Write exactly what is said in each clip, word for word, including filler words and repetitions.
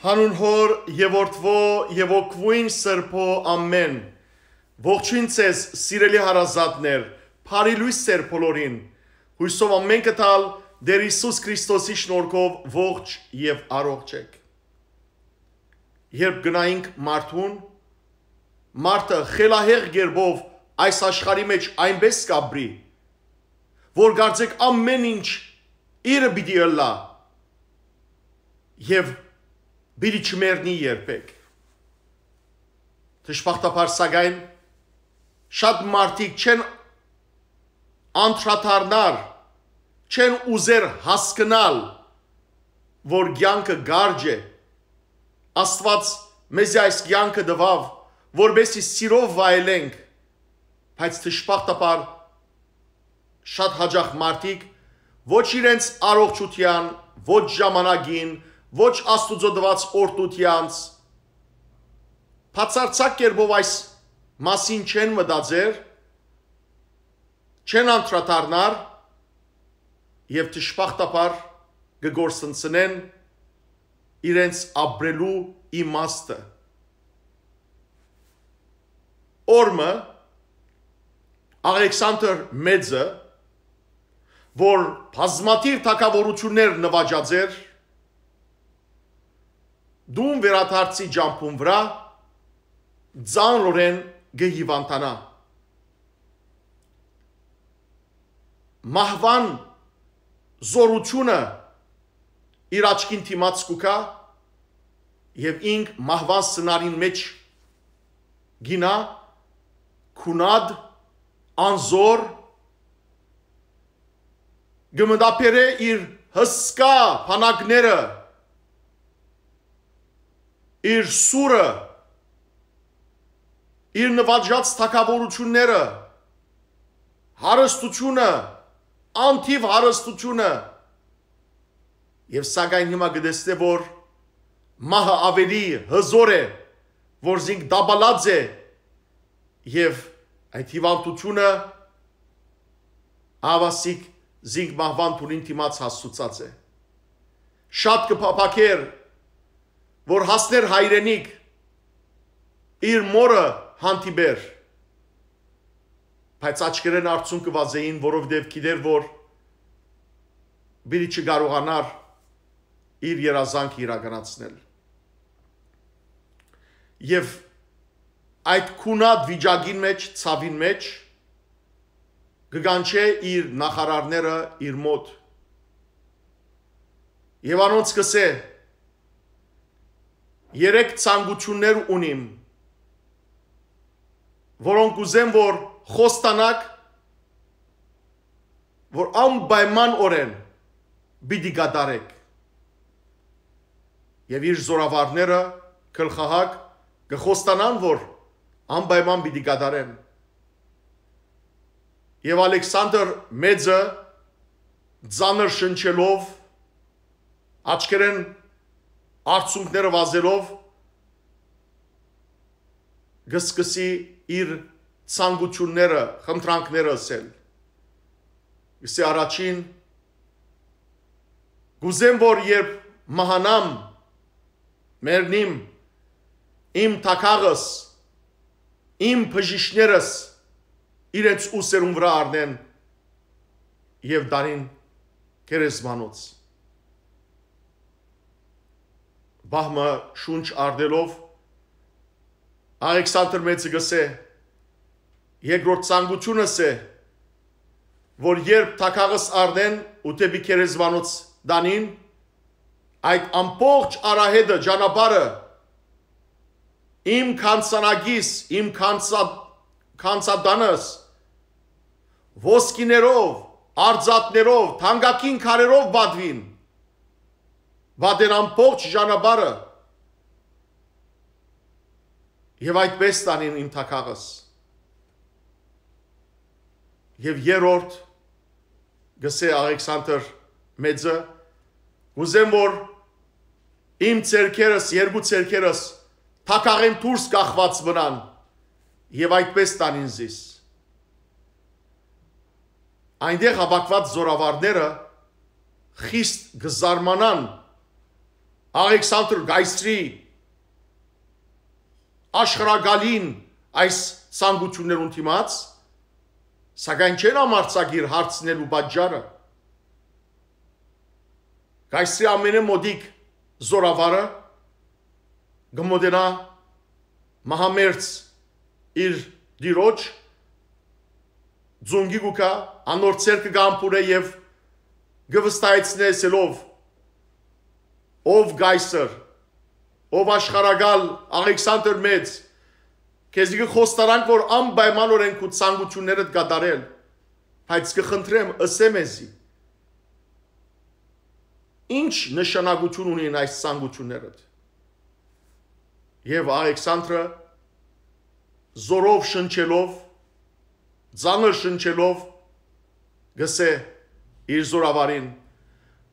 Հանուն հոր եւ որդվո եւ օգվույն սրբո ամեն ողջույն ցեզ սիրելի հարազատներ բարի լույս ծեր բոլորին հույսով ամեն կտալ Դեր Հիսուս Քրիստոսի շնորհքով ողջ եւ առողջ եք երբ գնայինք մարդուն մարդը խելահեղ գերբով այս աշխարհի մեջ այնպես կաբրի որ գարձեք ամեն ինչ իրը պիտի ըլլա եւ Բիլի չմերնի երբեք Դժբախտաբար սակայն շատ մարդիկ չեն անդրադառնալ չեն ուզեր հասկանալ որ կյանքը գարջ է Աստված մեզ այս կյանքը տվավ որպեսզի սիրով վայելենք բայց դժբախտաբար շատ հաճախ մարդիկ ոչ իրենց առողջության ոչ ժամանակին ոչ Աստուծո տված օրդությանց բացարձակ կերպով այս մասին չեն մտածեր չեն անդրադառնալ եւ դժբախտաբար կգործընծնեն իրենց ապրելու իմաստը օրմը Ալեքսանդր Մեծը որ բազմաթիվ թագավորություններ նվաճած էր Դուն վերադարձի ջամփուն վրա ձանրորեն գհիվանտանա Մահվան զորությունը իր աչքին թիմած կուկա եւ ինք մահվան սնարին մեջ գինա քունադ անզոր գմդապերը իր հսկա փանակները իր սուրը իր նվաճած թագավորությունները հարստությունը անթիվ հարստությունը եւ սակայն հիմա գտեսնե որ մահը ավելի հզոր է որ զինք դաբալած է եւ այդ հիվանդությունը ավասիկ զինք մահվան թունին թիմած հասցուցած է շատ կփափակեր որ հասներ հայրենիք իր մորը հանդիպեր բայց աչքերեն արցուն կվազեին որովհետև գիտեր որ բիլի չկարողանար իր երազանքը իրականացնել եւ այդ քունատ վիճակին մեջ ցավին մեջ կգանչե իր նախարարները իր մոտ եւ անոնց կսե Երեք ցանկություններ ունիմ որոնք ուզեմ որ խոստանակ որ անպայման օրեն պիտի կատարեք եւ իր զորավարները գլխահակ կխոստանան որ անպայման պիտի կատարեն եւ Ալեքսանդր Մեծը ծանր շնչելով աչքերեն Արցունքները վազելով գսկսի իր ցանկությունները, խնդրանքները ասել։ Իսկ առաջին գուզեմ որ երբ մահանամ մեռնիմ իմ թակաղս իմ բժիշկներս իրենց ուսերուն վրա առնեն եւ դարին քերեսմանոց Բահմը շունչ արդելով Ալեքսանդր Մեծը գսե երկրորդ ցանկությունս է որ երբ թակաղս արդեն ու տեպի քերեսվանոց դանին այդ ամբողջ արահետը ճանապարհը իմ կանցանագիս իմ կանցա կանցադանս ոսկիներով արձատներով թանկագին քարերով բադվին Վադեն ամբողջ ճանապարհը եւ այդպես տանին իմ թակաղս եւ երրորդ գսե Ալեքսանդր Մեծը ուզեմ որ իմ ցերքերս երկու ցերքերս թակաղեն դուրս կախված մնան եւ այդպես տանին զիս Այնտեղ հավաքված զորավարները խիստ գզարմանան Աղեքսանդր Գայսրի աշխարհագալին այս ցանկություններուն դիմաց, սակայն չեն ամարցագիր հարցնելու պատճառը։ Գայսրի ամենամոդիկ զորավարը գմոդենա մահամերձ իր դիրոջ ձունգի գուկա անոր ցերկը գամփուրը եւ գվստայցնեսելով ով Գայսր ով աշխարհագալ Աղեքսանդր մեծ քեզի կխոստարանք որ անպայմանորեն քու ցանկություններդ կատարել բայց կխնդրեմ ըսեմ էզի ինչ նշանակություն ունեն այս ցանկություններդ եւ Աղեքսանդրը զորով շնչելով ծանր շնչելով գսե իր զորավարին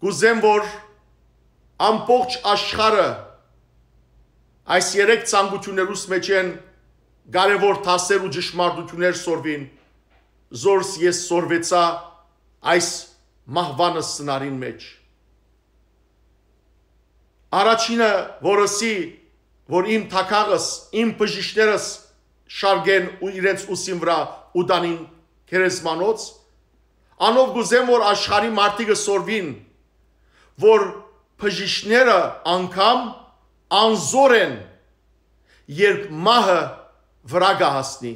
գուզեմ որ ամբողջ աշխարհը այս երեք ցանկություններուց մեջ են կարևոր թասեր ու ճշմարտություններ սորվին զորս ես սորվեցա այս մահվանը սնարին մեջ առաջինը որսի որ իմ թակաղս իմ բժիշկներս շարգեն ու իրենց ուսին վրա ու դանին քերեսմանոց անով գուզեմ որ աշխարհի մարդիկը սորվին որ բժիշկները անգամ անզոր են երբ մահը վրա գահասնի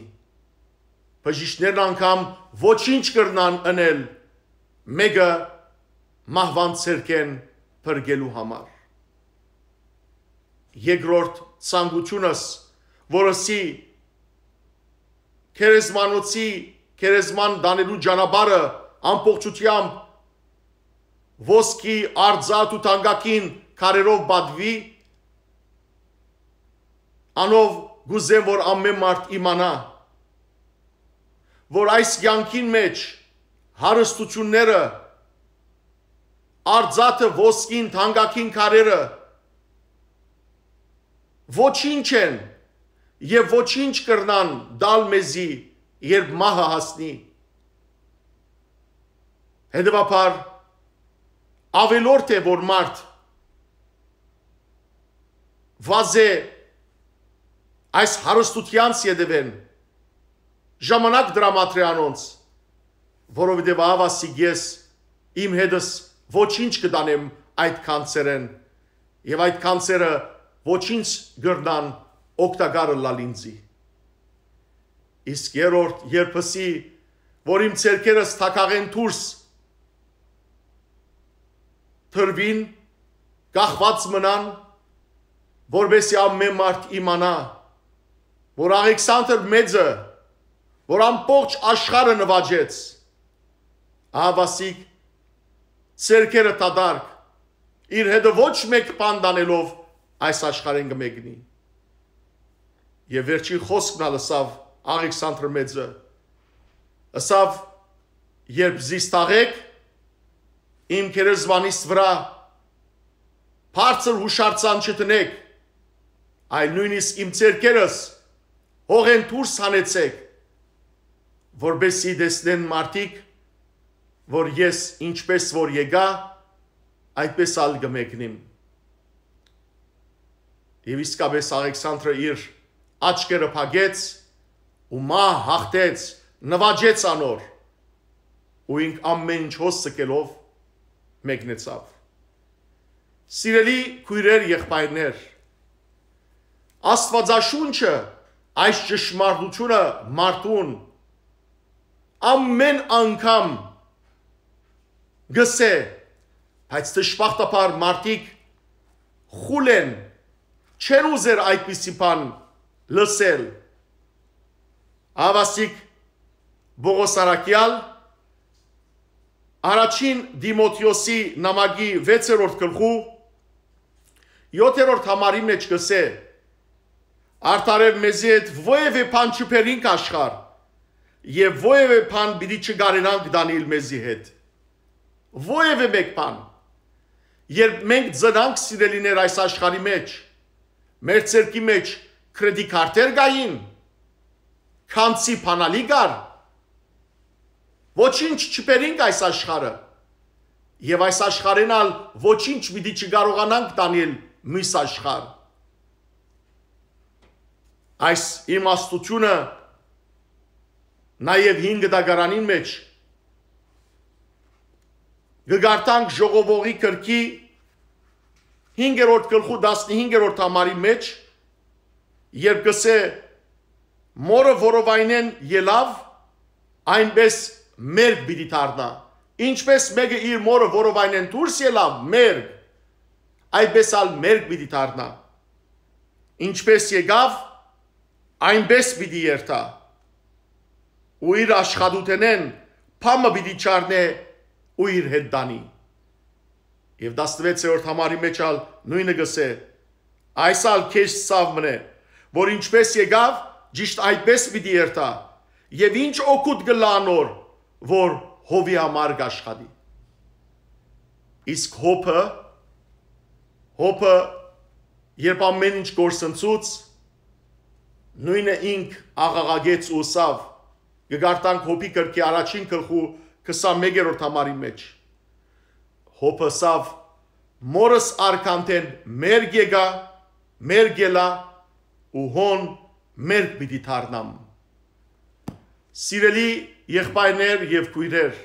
բժիշկներն անգամ ոչինչ կրնան անել մեկը մահվան ցերկեն փրկելու համար երկրորդ ցանկությունս որսի քերեսմանոցի քերեսման դանելու ճանապարհը ամբողջությամբ ոսկի արձատ ու տանգակին քարերով բադվի անով գուզեմ որ ամեն մարդ իմանա որ այս կյանքին մեջ հարստությունները արձատը ոսկին տանգակին քարերը ոչինչ են եւ ոչինչ կրնան դալ մեզի երբ մահը հասնի հետևաբար ավելորդ է որ մարդ վազե այս հարստությանց յետևեն ժամանակ դրամատրե անոնց որովհետև ավասիկ ես իմ հետս ոչինչ կդանեմ այդ կանցերեն եւ այդ կանցերը ոչինչ գրնան օգտակարը լալինձի իսկ երորդ երբսի որ իմ ցերկերս թակաղեն դուրս թրվին գախված մնան որբեսի ամեն մարդ իմանա որ Աղեքսանդր մեծը որ ամբողջ աշխարհը նվաճեց ահավասիկ ցերկերը տադարք իր հետը ոչ մեկ բան դանելով այս աշխարհեն կմեկնի եւ վերջին խոսքն ալսավ Աղեքսանդր մեծը ասավ երբ զիստաղեք իմ քերեզվանիս վրա բարձր հուշարձան չտնեք այլ նույնիսկ իմ ցերկերս հողեն դուրս հանեցեք որբեսի դեսնեն մարդիկ որ ես ինչպես որ եկա այդպես ալ կմեկնիմ Եվ իսկապես Աղեքսանդրը իր աչքերը փակեց ու մահ հաղթեց, նվաճեց անոր ու ինք ամեն ինչ հոսսկելով մեկնեցավ։ Սիրելի քույրեր եղբայրներ, Աստվածաշունչը այս ճշմարտությունը մարդուն ամեն անգամ գսե, բայց դժբախտաբար մարդիկ խուլ են, չեն ուզեր այդպիսի բան լսել։ Ավասիկ Բողոս Արաքյալ առաջին Դիմոթեոսի նամակի վեցերորդ գլխու յոթերորդ համարի մեջ գսե արդարև մեզի հետ ովևէ բան չփերինք աշխարհ եւ ովևէ բան պիտի չգարենանք դանել մեզի հետ ովևէ մեկ բան երբ մենք ծնանք սիրելիներ այս աշխարհի մեջ մեր ցերկի մեջ կրեդիտ քարտեր գային քանցի փանալի գար ոչինչ չփերինք այս աշխարհը եւ այս աշխարհենալ ոչինչ պիտի չկարողանանք տանել մյուս աշխարհ։ Այս իմաստությունը նաև հինգ դագարանին մեջ գգարտանք ժողովողի կրքի հինգերորդ գլխու տասնհինգերորդ համարի մեջ, երբ գսե մորը որովայնեն ելավ, այնպես մերկ պիտի դառնա։ Ինչպես մեկը իր մորը որովայնեն դուրս ելավ, մերկ, այդպես ալ մերկ պիտի դառնա։ Ինչպես եկավ, այնպես պիտի երթա։ Ու իր աշխատութենեն փամը պիտի չառնե ու իր հետ դանի։ Եվ տասնվեցերորդ համարի մեջ ալ նույնը գսե, այս ալ քեզ սավ մնե, որ ինչպես եկավ, ճիշտ այդպես պիտի երթա, եւ ինչ օգուտ գլա անոր, որ հովի համար գաշխատի։ Իսկ հոպը, հոպը, երբ ամեն ինչ գործընծուց, նույնը ինք աղաղագեց ու սավ, գգարտանք հոպի կրքի առաջին գլխու քսանմեկերորդ համարի մեջ։ Հոպը սավ, մորս արքանտեն մերգ եկա, մերգ ելա ու հոն մերգ պիտի դառնամ։ Սիրելի եղբայրներ եւ քույրեր,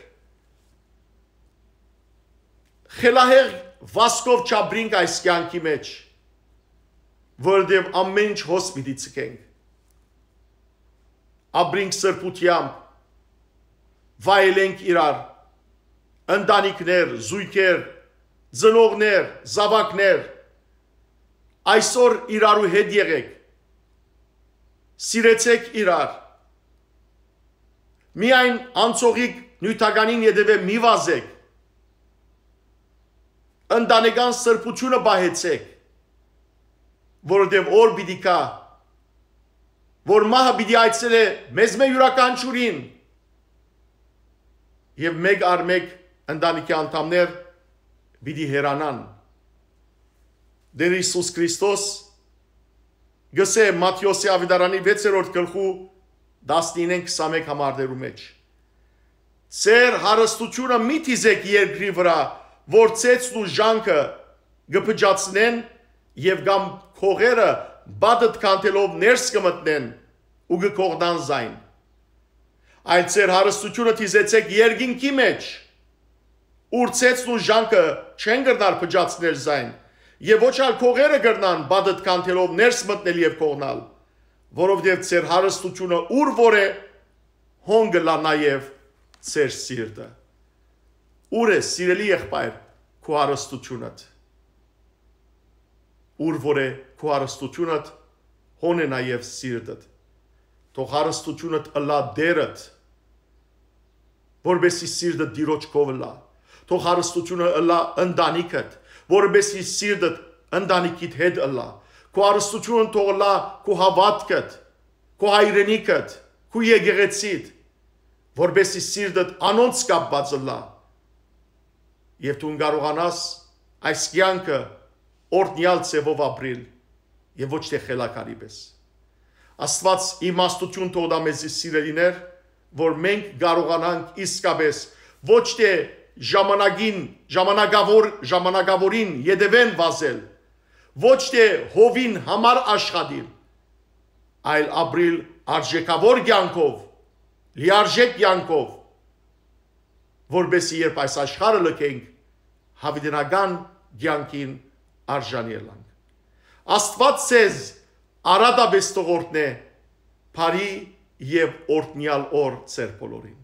խելահեղ վասկով չաբրինք այս կյանքի մեջ, որտեղ ամեն ինչ հոս պիտի ցկենք։ Աբրինք սրբությամբ, վայելենք իրար, ընտանիքներ, զույգեր, ծնողներ, զավակներ, այսօր իրարու հետ եղեք, սիրեցեք իրար, միայն անցողիկ նյութականին ետևե մի վազեք, ընտանեկան սրբությունը պահեցեք, որովհետև օր պիտի կա, որ մահը պիտի այցելե մեզ մե յուրաքանչյուրին, եւ մեկ առ մեկ ընտանիքի անդամներ պիտի հեռանան։ Դեր Հիսուս Քրիստոս գսե Մատթեոսի ավետարանի վեցերորդ գլխու տասնինը քսանմեկ համարներու մեջ։ Ձեր հարստությունը մի թիզեք երկրի վրա, որ ցեցն ու ժանքը գփճացնեն եւ կամ քողերը բադդ կանտելով ներս կմտնեն ու գկողնան զայն։ Այլ ձեր հարստությունը թիզեցեք երկինքի մեջ, ուր ցեցն ու ժանքը չեն գրնար փճացնել զայն, եւ ոչ ալ քողերը գրնան բադդ կանտելով ներս մտնել եւ կողնալ, որովհետեւ ձեր հարստությունը ուր որ է, հոնգը լա նաեւ ձեր սիրտը։ Ուր է սիրելի եղբայր քո հարստությունդ։ Ուր որ է քո հարստությունդ, հոն է նաեւ սիրտդ։ Թող հարստությունդ ըլա դերդ, որբեսի սիրտը դիրոջ կովլա։ Թող հարստությունը ըլա ընտանիքդ, որբեսի սիրտը ընտանիքիդ հետ ըլա։ Քո հարստությունը թող ըլա քո հավատքդ, քո հայրենիքդ, քո եկեղեցիդ, որբեսի սիրտդ անոնց կապված ըլա։ Եվ դու կարողանաս այս կյանքը օրդնյալ ցևով ապրել եւ ոչ թե խելակարի պես։ Աստված իմաստություն թող տա մեզ սիրելիներ, որ մենք կարողանանք իսկապես ոչ թե ժամանակին, ժամանակավոր, ժամանակավորին յետևեն վազել, ոչ թե հովին համար աշխատել, այլ ապրել արժեքավոր կյանքով, լիարժեք կյանքով, որբեսի երբ այս աշխարհը լքենք, հավիտենական կյանքին արժանի ելանք։ Աստված ցեզ արադաբես տողորտն է, բարի եւ օրհնյալ օր ձեր բոլորին։